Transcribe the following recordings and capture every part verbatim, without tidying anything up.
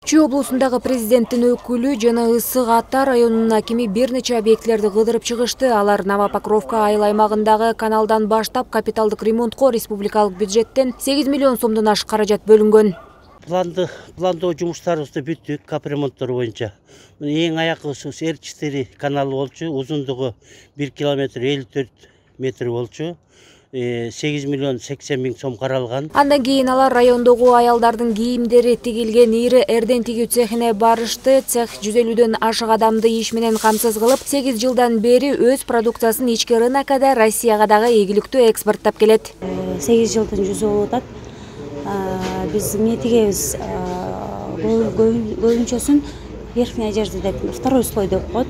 Чүй облусундагы президенттин өкүлү жана Ысык Ата районунун акими бир нече объектилерди кыдырып чыгышты. Алар Новопокровка айыл аймагындагы каналдан баштап капиталдык ремонтко республикалык бюджеттен сегиз миллион сомдон ашык каражат бөлүнгөн. Планды, пландоо жумуштарыбызды бүттүк капремонттор боюнча. Эң аякы Эр четири каналы болчу, узундугу бир километр элүү төрт метр болчу. сегиз миллион сексен миң сом каралган. Андан кийин алар райондогу аялдардын кийимдери тигилген ири эрден тигүү цехине барышты. Цех жүз элүүдөн ашык адамды иш менен камсыз кылып, сегиз жылдан бери өз продукциясын ички рынокко, Россияга дагы ийгиликтүү экспорттоп келет. сегиз жылдын жүзү болуп атат. Биз эмне тигебиз, көбүнчөсүн верхняя одежда деп, второй слой деп коет.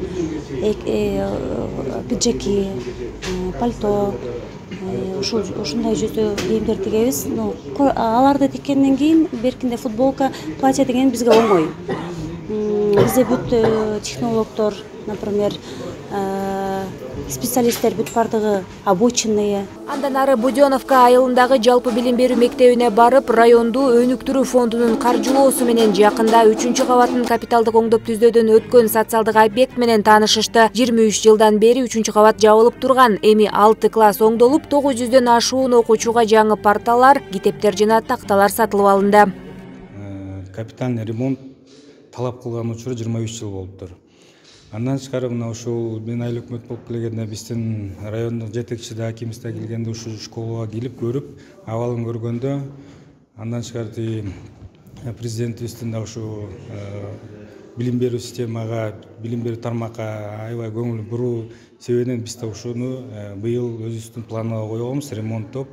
Пиджаки, пальто, ушундай жүздө кийимдер тигебиз. Аларды тиккенден кийин беркинде футболка, платье деген бизге оңой. Бизде бүт технологдор, например, специалисттер бүт бардыгы обученные. Андан ары Будёновка айылындагы жалпы билим берүү мектебине барып, районду өнүктүрүү фондунун каржылоосу менен жакында үчүнчү кабатын капиталдык оңдоп түздөөдөн өткөн социалдык объект менен таанышышты. жыйырма үч жылдан бери үчүнчү кабат жабылып турган. Эми алты класс оңдолуп, тогуз жүздөн ашуун окуучуга жаңы парталар, китептер жана такталар сатылып алынды. Капитальный ремонт талап кылган учуру жыйырма үч жыл болуптур. Андан тышкары мына ушул мен айыл өкмөт болуп келгенде биздин райондук жетекчи да акимибиз да келгенде ушул школага келип көрүп, абалын көргөндө, андан тышкары президентибиздин да ушул билим берүү системага, билим берүү тармакка аябай көңүл буруу себебинен биз да ушуну быйыл өзүбүздүн планга койгонбуз, ремонттоп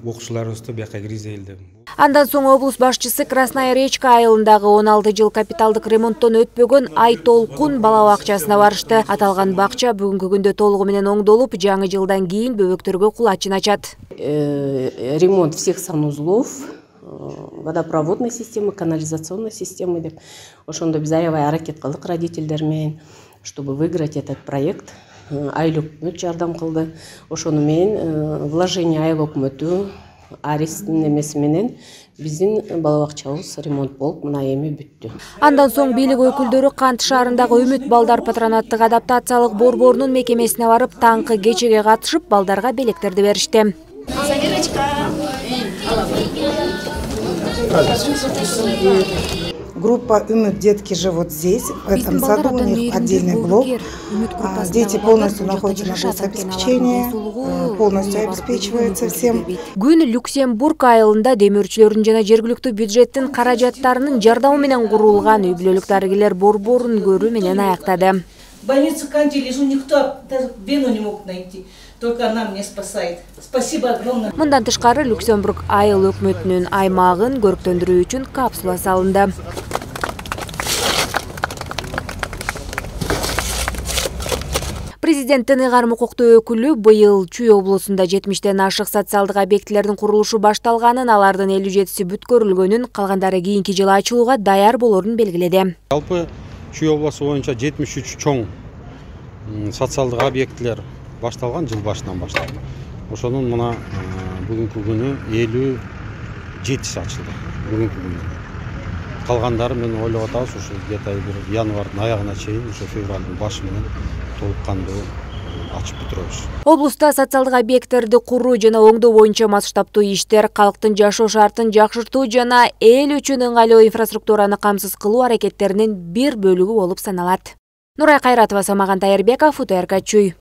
окуучуларыбызды бияка киргизели. Андан соң облус башчысы Красная Речка айылындагы он алты жыл капиталдык ремонттон өтпөгөн Ай Толкун бала бакчасына барышты. Аталган бакча бүгүнкү күндө толугу менен оңдолуп, жаңы жылдан кийин бөбөктөргө кулачын ачат. Ремонт всех санузлов, водопроводной системы, канализационной системы деп. Ошондо биз аябай аракет кылдык родительдер менен, чтобы выиграть этот проект. Айыл өкмөт жардам кылды. Ошону менен вложение айыл өкмөтү Аристин немеси менен биздин бала бакчабыз ремонт болуп, мына эми бүттү. Андан соң бийлик өкүлдөрү Кант шаарындагы Үмүт балдар патронаттык адаптациялык борборунун мекемесине барып, таңкы кечеге катышып, балдарга белектерди беришти. Группа «Үмүт» детки живут здесь, в этом саду, у них отдельный блок. Дети полностью находятся на гособеспечении, полностью обеспечиваются всем. Күн Люксембург айылында демөөрчүлөрдүн жана жергиликтүү бюджеттин каражаттарынын жардамы менен курулган үй-бүлөлүк дарыгерлер борборун көрүү менен аяктады. Больницу Канти лежу, никто даже вену не мог найти. Только она меня спасает. Спасибо огромное. Мындан тышкары Люксембург айыл өкмөтүнүн аймагын көрктөндүрүү үчүн капсула салынды. Президенттин ыйгарым укуктуу өкүлү быйыл Чүй облусунда жетимиштен ашык социалдык объектилердин курулушу башталганын, алардын элүү жетиси бүткөрүлгөнүн, калгандары кийинки жылы ачылууга даяр болорун белгиледи. Жалпы Чүй облусу боюнча жетимиш үч чоң социалдык объектилер башталган жыл башынан баштап. Ошонун мына бүгүнкү күнү элүү жетиси ачылды. Бүгүнкү күнү. Калгандары мен ойлоп атабыз, ушу где-то бир январдын аягына чейин, ушу февралдын башы менен толук кандуу ачып бүтүрөбүз. Облуста социалдык объекттерди куруу жана оңдоо боюнча масштабтуу иштер калктын жашоо шартын жакшыртуу жана эл үчүн ыңгайлуу инфраструктураны камсыз кылуу аракеттеринин бир бөлүгү болуп саналат. Нурай Кайратова, Самаган Тайырбеков, УТРК Чүй.